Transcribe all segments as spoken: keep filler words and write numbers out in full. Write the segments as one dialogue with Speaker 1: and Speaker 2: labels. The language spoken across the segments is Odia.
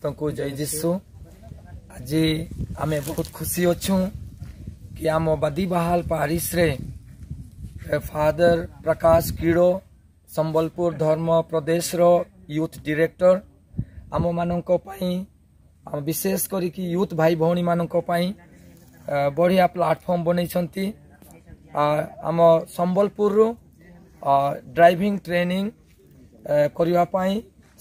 Speaker 1: ସମସ୍ତଙ୍କୁ ଜୟ ଯୀଶୁ। ଆଜି ଆମେ ବହୁତ ଖୁସି ଅଛୁ କି ଆମ ବାଦିବାହାଲ ପାରିସରେ ଫାଦର ପ୍ରକାଶ କିଡ଼ୋ, ସମ୍ବଲପୁର ଧର୍ମ ପ୍ରଦେଶର ୟୁଥ୍ ଡିରେକ୍ଟର, ଆମମାନଙ୍କ ପାଇଁ, ଆମ ବିଶେଷ କରିକି ୟୁଥ୍ ଭାଇ ଭଉଣୀମାନଙ୍କ ପାଇଁ ବଢ଼ିଆ ପ୍ଲାଟଫର୍ମ ବନେଇଛନ୍ତି। ଆମ ସମ୍ବଲପୁରରୁ ଡ୍ରାଇଭିଂ ଟ୍ରେନିଂ କରିବା ପାଇଁ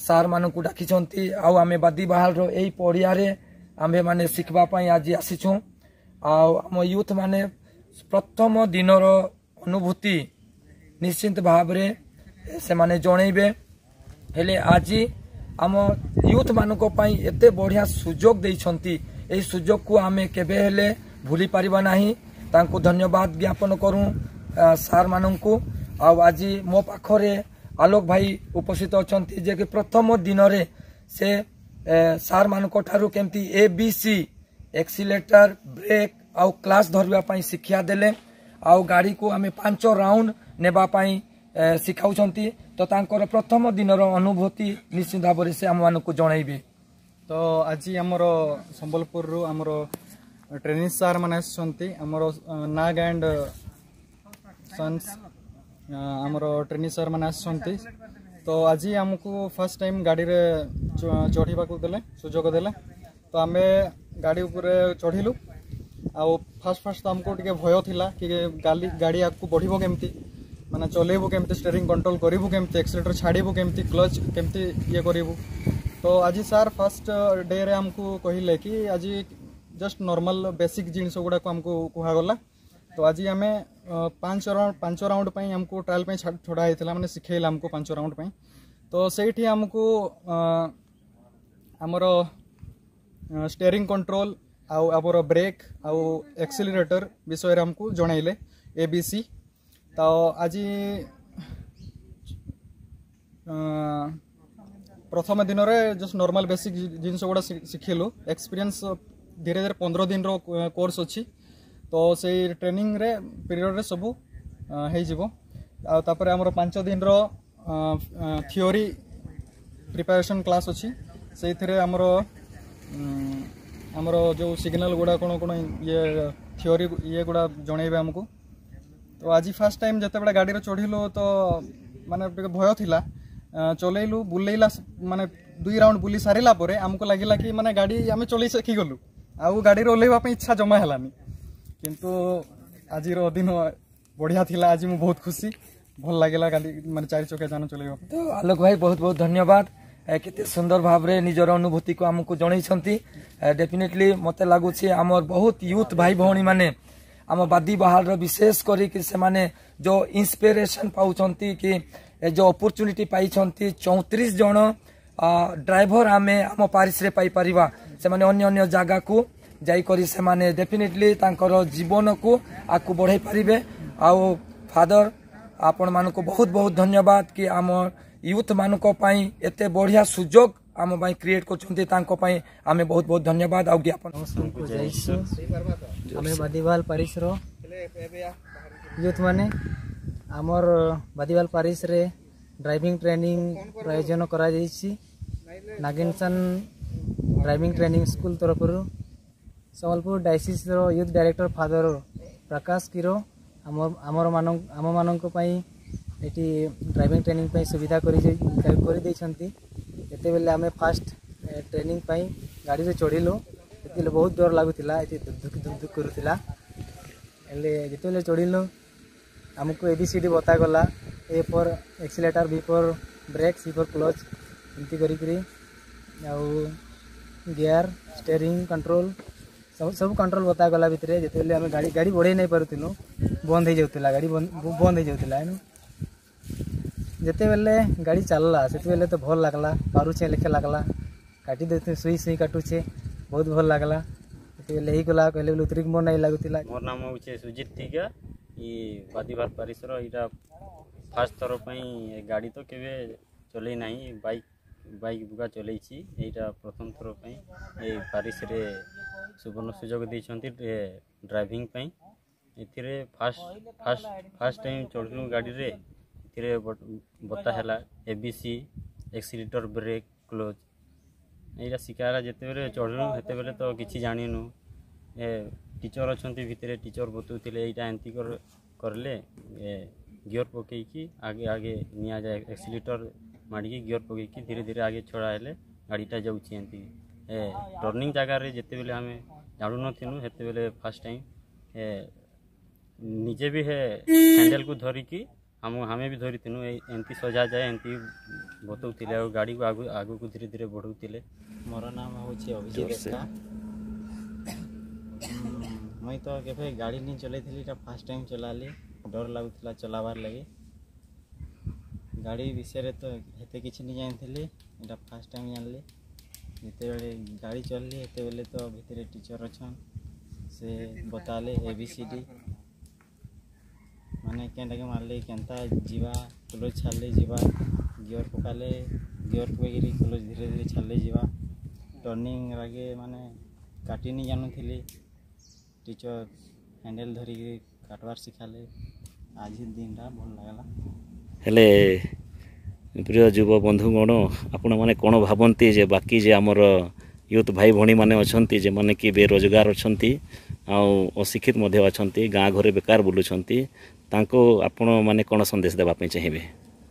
Speaker 1: ସାର୍ମାନଙ୍କୁ ଡାକିଛନ୍ତି ଆଉ ଆମେ ବାଦିବାହାଲର ଏଇ ପଡ଼ିଆରେ ଆମ୍ଭେମାନେ ଶିଖିବା ପାଇଁ ଆଜି ଆସିଛୁ। ଆଉ ଆମ ୟୁଥ୍ ମାନେ ପ୍ରଥମ ଦିନର ଅନୁଭୂତି ନିଶ୍ଚିତ ଭାବରେ ସେମାନେ ଜଣେଇବେ। ହେଲେ ଆଜି ଆମ ୟୁଥ୍ ମାନଙ୍କ ପାଇଁ ଏତେ ବଢ଼ିଆ ସୁଯୋଗ ଦେଇଛନ୍ତି, ଏହି ସୁଯୋଗକୁ ଆମେ କେବେ ହେଲେ ଭୁଲି ପାରିବା ନାହିଁ। ତାଙ୍କୁ ଧନ୍ୟବାଦ ଜ୍ଞାପନ କରୁ ସାର୍ମାନଙ୍କୁ। ଆଉ ଆଜି ମୋ ପାଖରେ ଆଲୋକ ଭାଇ ଉପସ୍ଥିତ ଅଛନ୍ତି, ଯେ କି ପ୍ରଥମ ଦିନରେ ସେ ସାର୍ମାନଙ୍କ ଠାରୁ କେମିତି ଏ ବି ସି, ଏକ୍ସିଲେଟର, ବ୍ରେକ୍ ଆଉ କ୍ଲଚ୍ ଧରିବା ପାଇଁ ଶିକ୍ଷା ଦେଲେ ଆଉ ଗାଡ଼ିକୁ ଆମେ ପାଞ୍ଚ ରାଉଣ୍ଡ ନେବା ପାଇଁ ଶିଖାଉଛନ୍ତି। ତ ତାଙ୍କର ପ୍ରଥମ ଦିନର ଅନୁଭୂତି ନିଶ୍ଚିତ ଭାବରେ ସେ ଆମମାନଙ୍କୁ ଜଣାଇବେ।
Speaker 2: ତ ଆଜି ଆମର ସମ୍ବଲପୁରରୁ ଆମର ଟ୍ରେନିଂ ସାର୍ ମାନେ ଆସିଛନ୍ତି। ଆମର ନାଗ ଆଣ୍ଡ ସନ୍ସ ଆମର ଟ୍ରେନିଂ ସାର୍ ମାନେ ଆସିଛନ୍ତି। ତ ଆଜି ଆମକୁ ଫାର୍ଷ୍ଟ ଟାଇମ୍ ଗାଡ଼ିରେ ଚଢ଼ିବାକୁ ଦେଲେ, ସୁଯୋଗ ଦେଲେ। ତ ଆମେ ଗାଡ଼ି ଉପରେ ଚଢ଼ିଲୁ ଆଉ ଫାର୍ଷ୍ଟ ଫାର୍ଷ୍ଟ ତ ଆମକୁ ଟିକେ ଭୟ ଥିଲା କି ଗାଡ଼ି ଗାଡ଼ି ଆଗକୁ ବଢ଼ିବ କେମିତି, ମାନେ ଚଲେଇବୁ କେମିତି, ଷ୍ଟେରିଂ କଣ୍ଟ୍ରୋଲ କରିବୁ କେମିତି, ଏକ୍ସିଲେଟର ଛାଡ଼ିବୁ କେମିତି, କ୍ଲଚ୍ କେମିତି ଇଏ କରିବୁ। ତ ଆଜି ସାର୍ ଫାର୍ଷ୍ଟ ଡେରେ ଆମକୁ କହିଲେ କି ଆଜି ଜଷ୍ଟ ନର୍ମାଲ ବେସିକ୍ ଜିନିଷ ଗୁଡ଼ାକ ଆମକୁ କୁହାଗଲା। ତ ଆଜି ଆମେ ପାଞ୍ଚ ରାଉଣ୍ଡ ପାଞ୍ଚ ରାଉଣ୍ଡ ପାଇଁ ଆମକୁ ଟ୍ରାଏଲ୍ ପାଇଁ ଛଡ଼ା ହେଇଥିଲା, ମାନେ ଶିଖେଇଲା ଆମକୁ ପାଞ୍ଚ ରାଉଣ୍ଡ ପାଇଁ। ତ ସେଇଠି ଆମକୁ ଆମର ଷ୍ଟେରିଂ କଣ୍ଟ୍ରୋଲ ଆଉ ଆମର ବ୍ରେକ୍ ଆଉ ଏକ୍ସିଲରେଟର ବିଷୟରେ ଆମକୁ ଜଣାଇଲେ, ଏ ବି ସି। ତ ଆଜି ପ୍ରଥମ ଦିନରେ ଜଷ୍ଟ ନର୍ମାଲ ବେସିକ୍ ଜିନିଷ ଗୁଡ଼ା ଶିଖିଲୁ। ଏକ୍ସପିରିଏନ୍ସ ଧୀରେ ଧୀରେ ପନ୍ଦର ଦିନର କୋର୍ସ ଅଛି, ତ ସେଇ ଟ୍ରେନିଂରେ ପିରିୟଡ଼ରେ ସବୁ ହେଇଯିବ। ଆଉ ତାପରେ ଆମର ପାଞ୍ଚ ଦିନର ଥିଓରି ପ୍ରିପାରେସନ୍ କ୍ଲାସ୍ ଅଛି। ସେଇଥିରେ ଆମର ଆମର ଯେଉଁ ସିଗ୍ନାଲ ଗୁଡ଼ା କ'ଣ କ'ଣ ଇଏ ଥିଓରି ଇଏ ଗୁଡ଼ା ଜଣେଇବେ ଆମକୁ। ତ ଆଜି ଫାର୍ଷ୍ଟ ଟାଇମ୍ ଯେତେବେଳେ ଗାଡ଼ିରେ ଚଢ଼ିଲୁ ତ ମାନେ ଟିକେ ଭୟ ଥିଲା। ଚଲେଇଲୁ, ବୁଲେଇଲା, ମାନେ ଦୁଇ ରାଉଣ୍ଡ ବୁଲି ସାରିଲା ପରେ ଆମକୁ ଲାଗିଲା କି ମାନେ ଗାଡ଼ି ଆମେ ଚଲେଇ ଶିଖିଗଲୁ, ଆଉ ଗାଡ଼ିରେ ଓହ୍ଲେଇବା ପାଇଁ ଇଚ୍ଛା ଜମା ହେଲାନି। କିନ୍ତୁ ଆଜିର ଦିନ ବଢ଼ିଆ ଥିଲା। ଆଜି ମୁଁ ବହୁତ ଖୁସି, ଭଲ ଲାଗିଲା ଗାଡ଼ି ମାନେ ଚାରି ଚକିଆ ଯାନ ଚଲେଇବା।
Speaker 1: ତ ଆଲୋକ ଭାଇ, ବହୁତ ବହୁତ ଧନ୍ୟବାଦ। କେତେ ସୁନ୍ଦର ଭାବରେ ନିଜର ଅନୁଭୂତିକୁ ଆମକୁ ଜଣେଇଛନ୍ତି। ଡେଫିନେଟଲି ମୋତେ ଲାଗୁଛି ଆମର ବହୁତ ୟୁଥ୍ ଭାଇ ଭଉଣୀମାନେ ଆମ ବାଦି ବାହାରର ବିଶେଷ କରିକି ସେମାନେ ଯେଉଁ ଇନ୍ସପିରେସନ୍ ପାଉଛନ୍ତି କି ଯେଉଁ ଅପରଚ୍ୟୁନିଟି ପାଇଛନ୍ତି, ଚଉତିରିଶ ଜଣ ଡ୍ରାଇଭର ଆମେ ଆମ ପାରିସରେ ପାଇପାରିବା, ସେମାନେ ଅନ୍ୟ ଅନ୍ୟ ଜାଗାକୁ ଯାଇକରି ସେମାନେ ଡେଫିନେଟଲି ତାଙ୍କର ଜୀବନକୁ ଆଗକୁ ବଢ଼ାଇ ପାରିବେ। ଆଉ ଫାଦର, ଆପଣମାନଙ୍କୁ ବହୁତ ବହୁତ ଧନ୍ୟବାଦ କି ଆମ ୟୁଥ୍ ମାନଙ୍କ ପାଇଁ ଏତେ ବଢ଼ିଆ ସୁଯୋଗ ଆମ ପାଇଁ କ୍ରିଏଟ୍ କରୁଛନ୍ତି। ତାଙ୍କ ପାଇଁ ଆମେ ବହୁତ ବହୁତ ଧନ୍ୟବାଦ ଆଉ ଜ୍ଞାପନ।
Speaker 3: ଆମେ ବାଦିବାଲ ପାରିସର ୟୁଥ୍ ମାନେ ଆମର ବାଦିବାଲ ପାରିସରେ ଡ୍ରାଇଭିଂ ଟ୍ରେନିଂ ଆୟୋଜନ କରାଯାଇଛି ନାଗିନସନ୍ ଡ୍ରାଇଭିଂ ଟ୍ରେନିଂ ସ୍କୁଲ ତରଫରୁ। ସମ୍ବଲପୁର ଡାଇସିସ୍ର ୟୁଥ୍ ଡାଇରେକ୍ଟର ଫାଦର ପ୍ରକାଶ କିରୋ ଆମ ଆମର ଆମମାନଙ୍କ ପାଇଁ ଏଠି ଡ୍ରାଇଭିଂ ଟ୍ରେନିଂ ପାଇଁ ସୁବିଧା କରି କରିଦେଇଛନ୍ତି। ଯେତେବେଳେ ଆମେ ଫାଷ୍ଟ ଟ୍ରେନିଂ ପାଇଁ ଗାଡ଼ିରେ ଚଢ଼ିଲୁ, ସେତେବେଳେ ବହୁତ ଡର ଲାଗୁଥିଲା, ଏଠି ଧୁକ୍ ଧୁକ୍ ଧୁକ୍ ଧୁକ୍ କରୁଥିଲା। ହେଲେ ଯେତେବେଳେ ଚଢ଼ିଲୁ, ଆମକୁ ଏ ବି ସି ଡ଼ି ବତାଗଲା, A for accelerator, B for brake, C for clutch, ଏମିତି କରିକିରି ଆଉ ଗିୟର, ଷ୍ଟେରିଂ କଣ୍ଟ୍ରୋଲ, ସବୁ ସବୁ କଣ୍ଟ୍ରୋଲ ବତାଗଲା ଭିତରେ। ଯେତେବେଳେ ଆମେ ଗାଡ଼ି ଗାଡ଼ି ବଢ଼େଇ ନାଇଁ ପାରୁଥିଲୁ, ବନ୍ଦ ହେଇଯାଉଥିଲା, ଗାଡ଼ି ବନ୍ଦ ହେଇଯାଉଥିଲା। ଏନୁ ଯେତେବେଳେ ଗାଡ଼ି ଚାଲିଲା, ସେତେବେଳେ ତ ଭଲ ଲାଗଲା, ପାରୁଛେ ଲେଖେ ଲାଗଲା। କାଟି ଦେଉଛୁ, ସୁଇ ସୁଇ କାଟୁଛେ, ବହୁତ ଭଲ ଲାଗଲା। ଯେତେବେଳେ ହେଇଗଲା କହିଲେ ବୋଲେ ଉତରିକି ମନ ନାଇଁ ଲାଗୁଥିଲା।
Speaker 4: ମୋର ନାମ ହେଉଛି ସୁଜିତ ତିକା। ଇ ବାଦିବାଲ ପାରିସର ଏଇଟା ଫାର୍ଷ୍ଟ ଥର ପାଇଁ। ଗାଡ଼ି ତ କେବେ ଚଲେଇ ନାହିଁ, ବାଇକ୍ ବାଇକ୍ ବୁକା ଚଲେଇଛି। ଏଇଟା ପ୍ରଥମ ଥର ପାଇଁ ଏଇ ପାରିସରେ ସୁବର୍ଣ୍ଣ ସୁଯୋଗ ଦେଇଛନ୍ତି ଡ୍ରାଇଭିଂ ପାଇଁ। ଏଥିରେ ଫାର୍ଷ୍ଟ ଫାର୍ଷ୍ଟ ଫାର୍ଷ୍ଟ ଟାଇମ୍ ଚଢ଼ିଲୁ ଗାଡ଼ିରେ, ଏଥିରେ ବତା ହେଲା A B C, accelerator, brake, clutch. ଏଇଟା ଶିଖା ହେଲା। ଯେତେବେଳେ ଚଢ଼ିଲୁ, ସେତେବେଳେ ତ କିଛି ଜାଣିନୁ। ଏ ଟିଚର୍ ଅଛନ୍ତି ଭିତରେ, ଟିଚର୍ ବତଉଥିଲେ, ଏଇଟା ଏମିତି କର କରିଲେ, ଏ ଗିଅର୍ ପକେଇକି ଆଗେ ଆଗେ ନିଆଯାଏ, ଏକ୍ସିଲେଟର୍ ମାଡ଼ିକି ଗିଅର୍ ପକେଇକି ଧୀରେ ଧୀରେ ଆଗେ ଛଡ଼ା ହେଲେ ଗାଡ଼ିଟା ଯାଉଛି ଏମିତି। ଏ ଟର୍ଣ୍ଣିଂ ଜାଗାରେ ଯେତେବେଳେ ଆମେ ଜାଣୁନଥିଲୁ, ସେତେବେଳେ ଫାର୍ଷ୍ଟ ଟାଇମ୍ ଏ ନିଜେ ବି ହେ ହ୍ୟାଣ୍ଡେଲକୁ ଧରିକି ଆମ ଆମେ ବି ଧରିଥିନୁ। ଏଇ ଏମିତି ସଜାଯାଏ, ଏମିତି ବତଉଥିଲେ ଆଉ ଗାଡ଼ିକୁ ଆଗକୁ ଆଗକୁ ଧୀରେ ଧୀରେ ବଢ଼ଉଥିଲେ।
Speaker 5: ମୋର ନାମ ହେଉଛି ଅଭିଜିତ ଏକ୍କା। ମୁଇଁ ତ କେବେ ଗାଡ଼ି ନି ଚଲେଇଥିଲି, ଏଇଟା ଫାର୍ଷ୍ଟ ଟାଇମ୍ ଚଲାଲି। ଡର ଲାଗୁଥିଲା ଚଲାବାର୍ ଲାଗି। ଗାଡ଼ି ବିଷୟରେ ତ ହେତେ କିଛି ନି ଜାଣିଥିଲି, ଏଇଟା ଫାର୍ଷ୍ଟ ଟାଇମ୍ ଜାଣିଲି। ଯେତେବେଳେ ଗାଡ଼ି ଚଲେଇଲି, ସେତେବେଳେ ତ ଭିତରେ ଟିଚର୍ ଅଛନ୍, ସେ ବତାଲେ ଏ ବି ସି ଡ଼ି, ମାନେ କେନ୍ଟାକେ ମାରଲେ କେନ୍ତା ଯିବା, କ୍ଲଚ୍ ଛାଡ଼ଲେ ଯିବା, ଗିଅର୍ ପକାଲେ, ଗିଅର୍ ପକେଇକିରି କ୍ଲଚ୍ ଧୀରେ ଧୀରେ ଛାଡ଼ଲେ ଯିବା। ଟର୍ଣ୍ଣିଂ ଆଗେ ମାନେ କାଟି ନି ଜାଣୁଥିଲି, ଟିଚର୍ ହ୍ୟାଣ୍ଡେଲ୍ ଧରିକିରି କାଟବାର୍ ଶିଖାଲେ। ଆଜି ଦିନଟା ଭଲ ଲାଗଲା।
Speaker 6: ହେଲେ ପ୍ରିୟ ଯୁବ ବନ୍ଧୁଗଣ, ଆପଣମାନେ କ'ଣ ଭାବନ୍ତି ଯେ ବାକି ଯେ ଆମର ୟୁଥ୍ ଭାଇ ଭଉଣୀମାନେ ଅଛନ୍ତି, ଯେମାନେ କି ବେରୋଜଗାର ଅଛନ୍ତି ଆଉ ଅଶିକ୍ଷିତ ମଧ୍ୟ ଅଛନ୍ତି, ଗାଁ ଘରେ ବେକାର ବୁଲୁଛନ୍ତି, ତାଙ୍କୁ ଆପଣମାନେ କ'ଣ ସନ୍ଦେଶ ଦେବା ପାଇଁ ଚାହିଁବେ?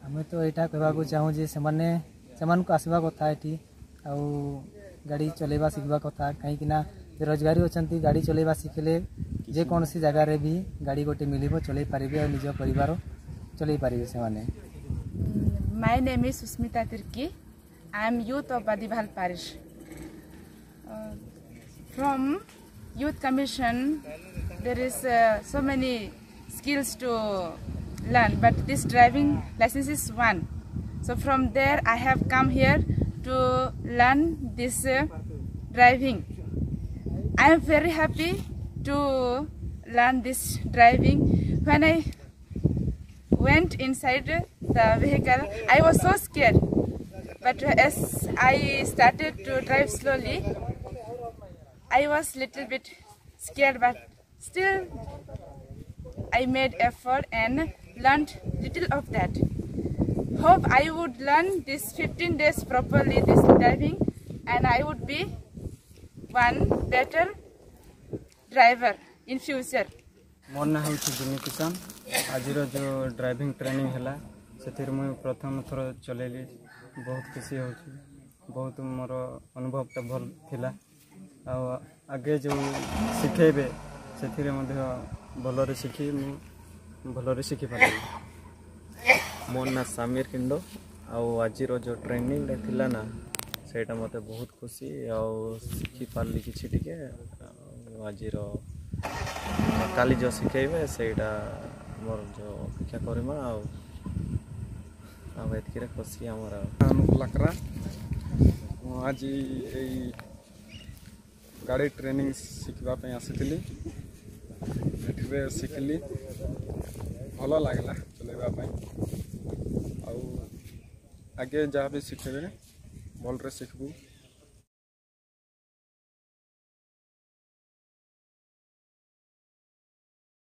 Speaker 3: ଆମେ ତ ଏଇଟା କହିବାକୁ ଚାହୁଁ ଯେ ସେମାନେ ସେମାନଙ୍କୁ ଆସିବା କଥା ଏଠି ଆଉ ଗାଡ଼ି ଚଲେଇବା ଶିଖିବା କଥା, କାହିଁକି ନା ବେରୋଜଗାରୀ ଅଛନ୍ତି, ଗାଡ଼ି ଚଲେଇବା ଶିଖିଲେ ଯେକୌଣସି ଜାଗାରେ ବି ଗାଡ଼ି ଗୋଟେ ମିଳିବ, ଚଲେଇ ପାରିବେ ଆଉ ନିଜ ପରିବାର ଚଲେଇ ପାରିବେ ସେମାନେ।
Speaker 7: My name is Susmita Tirki. I am youth of Badibahal Parish. Uh, from Youth Commission, there is uh, so many skills to learn, but this driving license is one. So from there, I have come here to learn this uh, driving. I am very happy to learn this driving. When I went inside the vehicle, I was so scared. But as I started to drive slowly, I was little bit scared, but still I made effort and learned little of that. Hope I would learn this fifteen days properly, this driving, and I would be one better driver in future.
Speaker 2: ମୋର ନାଁ ହେଉଛି ଜିମି କିଷାନ। ଆଜିର ଯେଉଁ ଡ୍ରାଇଭିଂ ଟ୍ରେନିଂ ହେଲା, ସେଥିରେ ମୁଁ ପ୍ରଥମ ଥର ଚଲେଇଲି। ବହୁତ ଖୁସି ହେଉଛି, ବହୁତ ମୋର ଅନୁଭବଟା ଭଲ ଥିଲା। ଆଉ ଆଗେ ଯେଉଁ ଶିଖେଇବେ, ସେଥିରେ ମଧ୍ୟ ଭଲରେ ଶିଖି ମୁଁ ଭଲରେ ଶିଖିପାରିବି।
Speaker 8: ମୋ ନାଁ ସାମିର କିଣ୍ଡୋ। ଆଉ ଆଜିର ଯେଉଁ ଟ୍ରେନିଂଟା ଥିଲା ନା, ସେଇଟା ମୋତେ ବହୁତ ଖୁସି ଆଉ ଶିଖିପାରିଲି କିଛି ଟିକେ। ଆଉ ଆଜିର କାଲି ଯେଉଁ ଶିଖେଇବେ, ସେଇଟା ମୋର ଯେଉଁ ଅପେକ୍ଷା କରିବା। ଆଉ ଆଉ ଏତିକିରେ ଖୁସି ଆମର। ଆଉ
Speaker 9: ଅନୁପ ଲାକ୍ରା। ମୁଁ ଆଜି ଏଇ ଗାଡ଼ି ଟ୍ରେନିଂ ଶିଖିବା ପାଇଁ ଆସିଥିଲି। ଏଠିରେ ଶିଖିଲି, ଭଲ ଲାଗିଲା ଚଲେଇବା ପାଇଁ। ଆଉ ଆଗେ ଯାହା ବି ଶିଖେଇବେ, ଭଲରେ ଶିଖିବୁ।